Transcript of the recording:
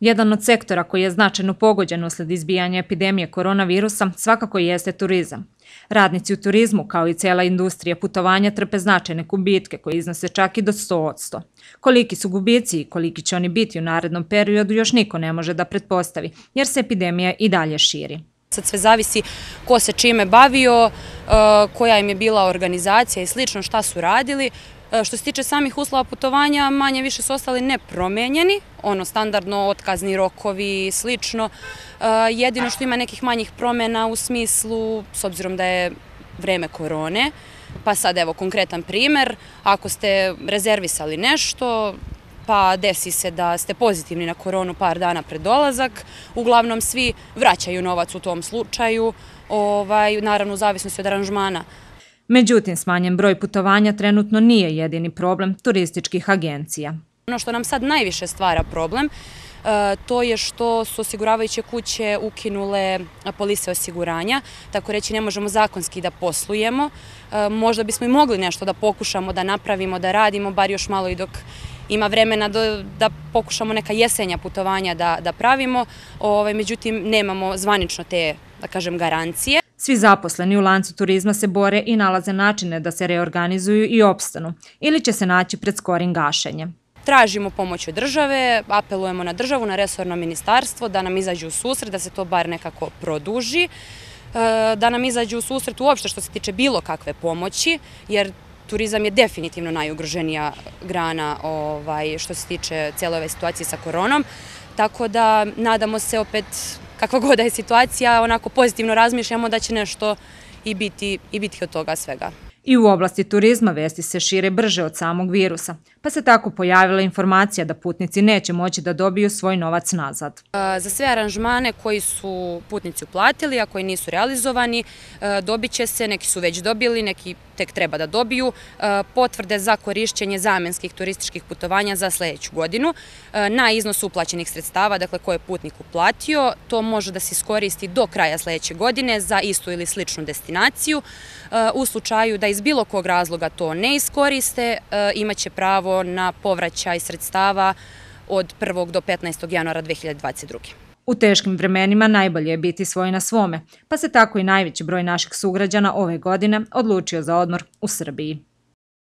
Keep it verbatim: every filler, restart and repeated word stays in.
Jedan od sektora koji je značajno pogođen usled izbijanja epidemije koronavirusa svakako jeste turizam. Radnici u turizmu, kao i cijela industrija putovanja, trpe značajne gubitke koji iznose čak i do sto posto. Koliki su gubici i koliki će oni biti u narednom periodu još niko ne može da pretpostavi, jer se epidemija i dalje širi. Sad sve zavisi ko se čime bavio, koja im je bila organizacija i slično, šta su radili. Što se tiče samih uslova putovanja, manje više su ostali nepromenjeni, ono standardno otkazni rokovi i slično. Jedino što ima nekih manjih promjena u smislu, s obzirom da je vreme korone, pa sad evo konkretan primjer, ako ste rezervisali nešto, pa desi se da ste pozitivni na koronu par dana pred dolazak, uglavnom svi vraćaju novac u tom slučaju, ovaj, naravno u zavisnosti od aranžmana. Međutim, smanjen broj putovanja trenutno nije jedini problem turističkih agencija. Ono što nam sad najviše stvara problem, to je što su osiguravajuće kuće ukinule polise osiguranja, tako reći ne možemo zakonski da poslujemo. Možda bismo i mogli nešto da pokušamo, da napravimo, da radimo, bar još malo i dok ima vremena da pokušamo neka jesenja putovanja da pravimo, međutim nemamo zvanično te, da kažem, garancije. Svi zaposleni u lancu turizma se bore i nalaze načine da se reorganizuju i opstanu, ili će se naći pred skorim gašenjem. Tražimo pomoć od države, apelujemo na državu, na resorno ministarstvo da nam izađu u susret, da se to bar nekako produži, da nam izađu u susret uopšte što se tiče bilo kakve pomoći, jer turizam je definitivno najugroženija grana što se tiče cijele ove situacije sa koronom, tako da nadamo se opet, kakva god da je situacija, onako pozitivno razmišljamo da će nešto i biti, i biti od toga svega. I u oblasti turizma vesti se šire brže od samog virusa, pa se tako pojavila informacija da putnici neće moći da dobiju svoj novac nazad. Za sve aranžmane koji su putnici uplatili, a koji nisu realizovani, dobit će se, neki su već dobili, neki tek treba da dobiju, potvrde za korišćenje zamenskih turističkih putovanja za sljedeću godinu na iznos uplaćenih sredstava, dakle koje je putnik uplatio. To može da se iskoristi do kraja sljedeće godine za istu ili sličnu destinaciju. U slučaju da iz bilo kog razloga to ne iskoriste, imaće pravo na povraćaj sredstava od prvog do petnaestog januara dve hiljade dvadeset druge. U teškim vremenima najbolje je biti svoj na svome, pa se tako i najveći broj naših sugrađana ove godine odlučio za odmor u Srbiji.